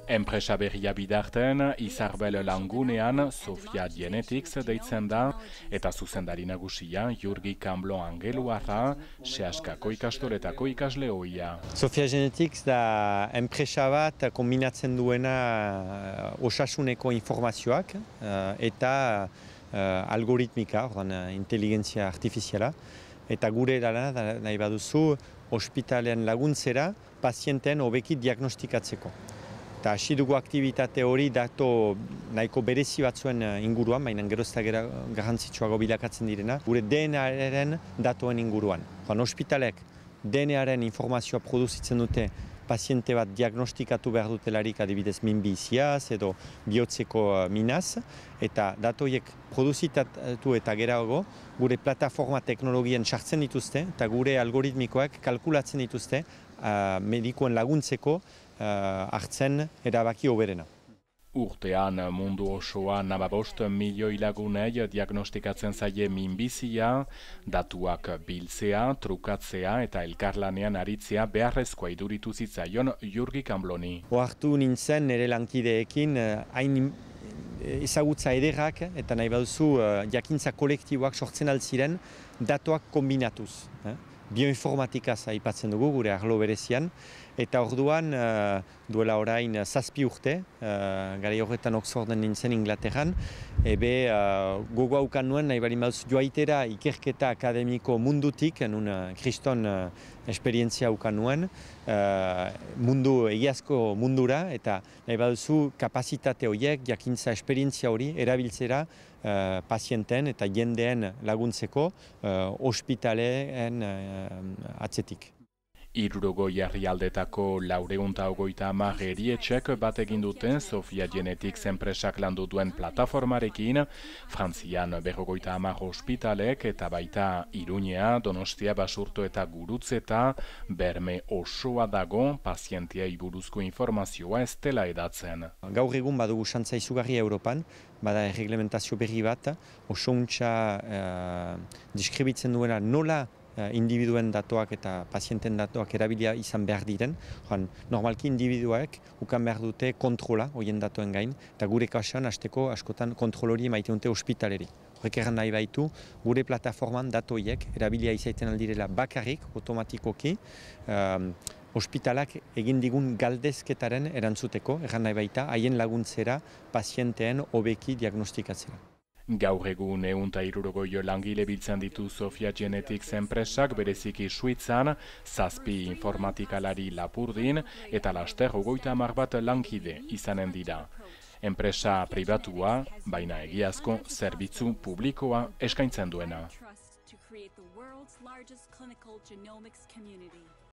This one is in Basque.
Enpresa berria bidarten, Izarbel Langunean Sofia Genetics deitzen da, eta zuzendari nagusia Jurgi Kanblo Angeluarra, Seaskako ikastoletako ikasle ohia. Sofia Genetics da enpresa bat kombinatzen duena osasuneko informazioak eta algoritmika, inteligentzia artifiziala. Eta gure lana nahi baduzu ospitalean laguntzera pazienten hobeki diagnostikatzeko. Eta hasi dugu aktibitate hori dato nahiko berezi batzuen inguruan, baina gero ez da garrantzitsuago bilakatzen direna, gure DNA-aren datoen inguruan. Ospitalek DNA-aren informazioa produzitzen dute paziente bat diagnostikatu behar dutelarik adibidez minbiziaz edo bihotzeko minaz, eta datoiek produzitatu eta gerago gure plataforma teknologien sartzen dituzte eta gure algoritmikoak kalkulatzen dituzte medikuen laguntzeko hartzen erabaki hoberena. Urtean mundu osoan 5 milioi lagunei diagnostikatzen zaie minbizia, datuak biltzea, trukatzea eta elkarlanean aritzea beharrezkoa iduritu zitzaion Jurgi Kanbloni. Ohartu nintzen nire lankideekin hain ezagutza ederrak eta nahi baduzu jakintza kolektiboak sortzen altziren datuak kombinatuz. Bioinformatikaz aipatzen dugu gure arlo berezian, eta orduan duela orain 7 urte, garai horretan Oxforden nintzen Inglaterran, gogo haukan nuen nahi bali mauz joaitera ikerketa akademiko mundutik, nun kriston esperientzia haukan nuen, egiazko mundura, eta nahi baduzu kapasitate horiek, jakintza esperientzia hori, erabiltzera pazienten eta jendeen laguntzeko ospitaleen atzetik. 60 herrialdetako 450 erietxek bat egin duten Sofia Genetics enpresak landu duen plataformarekin, Frantzian 50 ospitalek eta baita Iruñea, Donostia, Basurto eta Gurutzeta berme osoa dago pazientiei buruzko informazioa ez dela edatzen. Gaur egun badugu xantza izugarri Europan, bada erreglementazio berri bat, oso untxa deskribitzen duena nola individuen datuak eta pazienten datuak erabilia izan behar diren. Normalki individuak ukan behar dute kontrola horien datuen gain, eta gure kasuan hasteko askotan kontrol hori maite dute ospitaleri. Horrek erran nahi baitu, gure plataforman datoiek erabilia izaiten aldirela bakarrik, automatikoki, ospitalak egin digun galdezketaren erantzuteko, erran nahi baita, haien laguntzera pazienteen hobeki diagnostikatzera. Gaur egun 160 langile biltzen ditu Sofia Genetics enpresak bereziki Suitzan, 7 informatikalari Lapurdin eta laster 30 bat lankide izanen dira. Enpresa pribatua, baina egiazko zerbitzu publikoa eskaintzen duena.